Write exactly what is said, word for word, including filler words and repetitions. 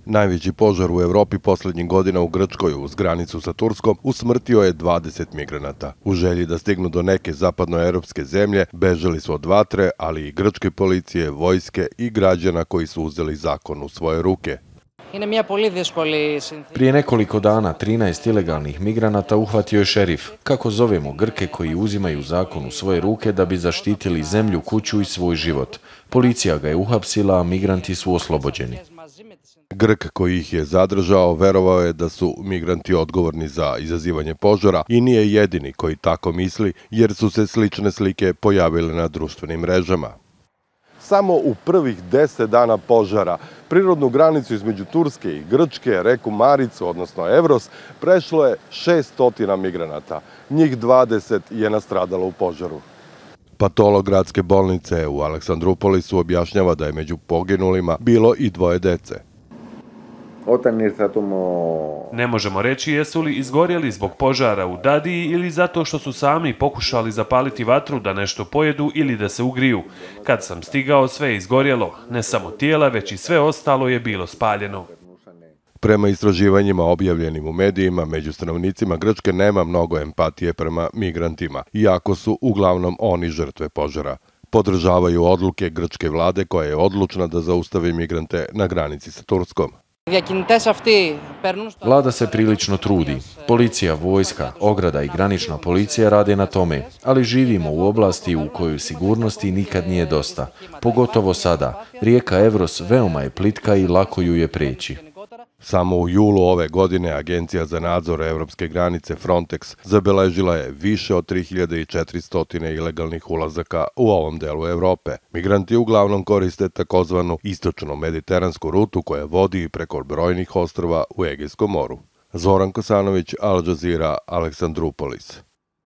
Najveći požar u Evropi posljednjih godina u Grčkoj uz granicu sa Turskom usmrtio je dvadeset migranata. U želji da stignu do neke zapadnoevropske zemlje bežali su od vatre, ali i grčke policije, vojske i građana koji su uzeli zakon u svoje ruke. Prije nekoliko dana trinaest ilegalnih migranata uhvatio je šerif, kako zovemo Grke koji uzimaju zakon u svoje ruke da bi zaštitili zemlju, kuću i svoj život. Policija ga je uhapsila, a migranti su oslobođeni. Grk koji ih je zadržao verovao je da su migranti odgovorni za izazivanje požara i nije jedini koji tako misli, jer su se slične slike pojavile na društvenim mrežama. Samo u prvih deset dana požara prirodnu granicu između Turske i Grčke, reku Maricu, odnosno Evros, prešlo je šessto migranata. Njih dvadeset je nastradalo u požaru. Patolog gradske bolnice u Aleksandrupolisu objašnjava da je među poginulima bilo i dvoje dece. Ne možemo reći jesu li izgorjeli zbog požara u Dadiji ili zato što su sami pokušali zapaliti vatru da nešto pojedu ili da se ugriju. Kad sam stigao, sve je izgorjelo. Ne samo tijela, već i sve ostalo je bilo spaljeno. Prema istraživanjima objavljenim u medijima, među stanovnicima Grčke nema mnogo empatije prema migrantima, iako su uglavnom oni žrtve požara. Podržavaju odluke grčke vlade koja je odlučna da zaustavi migrante na granici sa Turskom. Vlada se prilično trudi. Policija, vojska, ograda i granična policija rade na tome, ali živimo u oblasti u kojoj sigurnosti nikad nije dosta. Pogotovo sada. Rijeka Evros veoma je plitka i lako ju je preći. Samo u julu ove godine Agencija za nadzor evropske granice Frontex zabeležila je više od tri hiljade četiristo ilegalnih ulazaka u ovom delu Evrope. Migranti uglavnom koriste takozvanu istočnu mediteransku rutu koja vodi preko brojnih ostrva u Egejskom moru. Zoran Kosanović, Al Jazeera, Aleksandrupolis.